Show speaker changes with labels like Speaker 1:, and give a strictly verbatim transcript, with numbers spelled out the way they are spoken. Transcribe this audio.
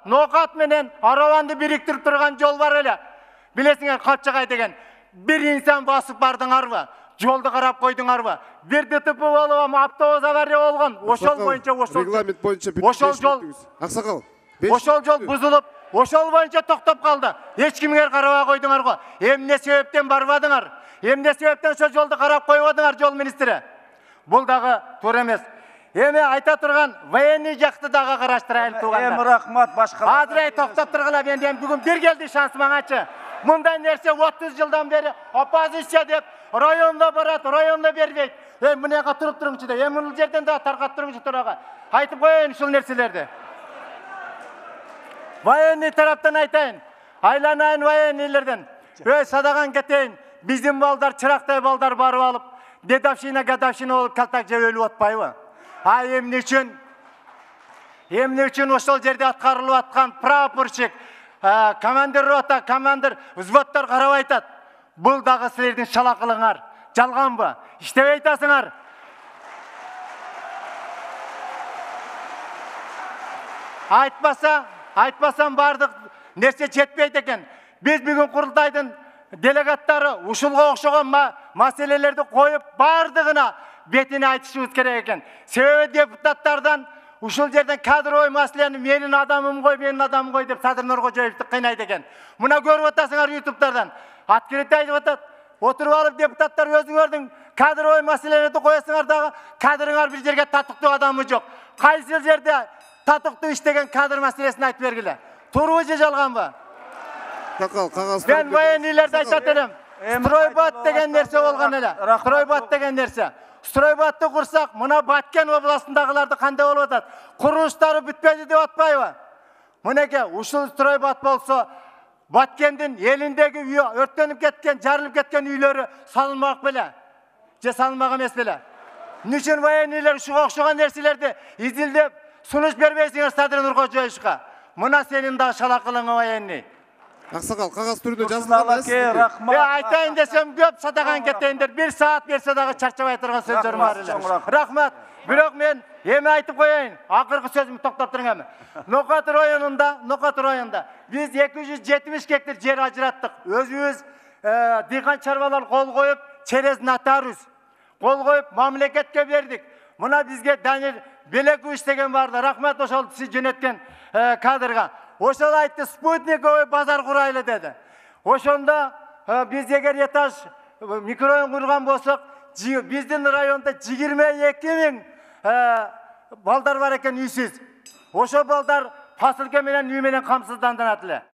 Speaker 1: Нокат менен Араванды бириктирип турган жол бар эле. Билесиңер, Капчагай деген. Бир инсан басып бардыңарбы? Жолду карап койдуңарбы? Бир ДТП болуп, автобус авария болгон. Ошол боюнча ошол
Speaker 2: регламент боюнча
Speaker 1: ошол жол
Speaker 2: аксакал.
Speaker 1: Ошол жол бузулуп, ошол боюнча токтоп калды. Эч кимге карабай койдуңар го. Эмне себептен барбадыңар? Эмне себептен ошол жолду карап койбодуңар, жол министри? Бул дагы туура эмес. Эми айта турган военный жакты дагы караштырайлы туугандар.
Speaker 3: Эми рахмат башка.
Speaker 1: Азыр токтоп тургула, мен эми бүгүн бир келди шанс маңачы. Мындай нерсе отуз жылдан бери оппозиция деп районда барат, районда бербейт. Эми мынага туруп туруңчу деп, эми бул жерден да таркап туруңчу турага. Айтып коеюн ушул нерселерди. Военный тараптан айтайын. Айланайын военныйлерден. Өй садаган кетейин. Биздин балдар чырактай балдар барып алып, дедовщина, гадовщина болуп калтак жеп өлүп атпайбы? А эмне үчүн? Эмне үчүн ошол жерде аткарылып аткан прапорщик, командир рота, командир взводдор карап айтат. Бул дагы силердин шалакылыңар. Жалганбы? Иштебей атасыңар. Айтпаса, айтпасам бардык нерсе жетпейт экен. Биз бүгүн курултайдын делегаттары ушулга окшогон маселелерди коюп, бардыгына бетине айтышыбыз керек экен. Себеби депутаттардан ушул жерден кадровый маселени менин адамым кой, менин адамым кой деп Садыр Нуркожоевди кыйнайт экен. Мына көрүп атасыңар ютубтардан. Открытый айтып атат. Отуруп алып депутаттар өзүңөрдүн кадровый маселелерди коесуңар дагы кадрыңар бир жерге татыктуу адамы жок. Кайсы жерде татыктуу иштеген кадр маселесин айтып бергиле. Туурубу же жалганбы?
Speaker 2: Такал, кагаз.
Speaker 1: Мен военныйлерди айтат элем. Стройбат деген нерсе болгон эле. Стройбат деген нерсе. Стройбатты курсак, мына Баткен областындагыларды кандай болуп атат? Курулуштары бүтпөдү деп атпайбы? Мынеке, ушул стройбат болсо, Баткендин элиндеги үй өрттөнүп кеткен, жарылып кеткен үйлөрү салынмак беле? Же салынмак эмес беле? Эмне үчүн военныйлер ушуга окшогон нерселерди изилдеп, сунуш бербейсиңер Садыр Нуркожоевичке? Мына сенин дагы шалакылың военный.
Speaker 2: Аксакал, кагаз түрүндө жазылган.
Speaker 3: Рахмат.
Speaker 1: Айтайын десем көп садаган кетейиндер. Бир саат берсе дагы чарчабай турган сөздөрүм бар эле. Рахмат. Бирок мен эми айтып коеюн. Акыркы сөзүмдү токтоп туруң эми. Нокат районунда, Нокат районунда биз эки жүз жетимиш гектар жер ажыраттык. Өзүбүз дыйкан чарбалар кол коюп, через нотариус кол коюп мамлекетке бердик. Мына бизге Данил Белекович деген барды. Рахмат ошол сиз жөнөткөн кадрга. Ошол айтты, спутниковый базар курайлы деди. Ошондо биз эгер этаж микрорайон курган болсок, биздин районда жыйырма эки миң балдар бар экен үйсүз. Ошол балдар поселке менен үй менен камсызданат эле.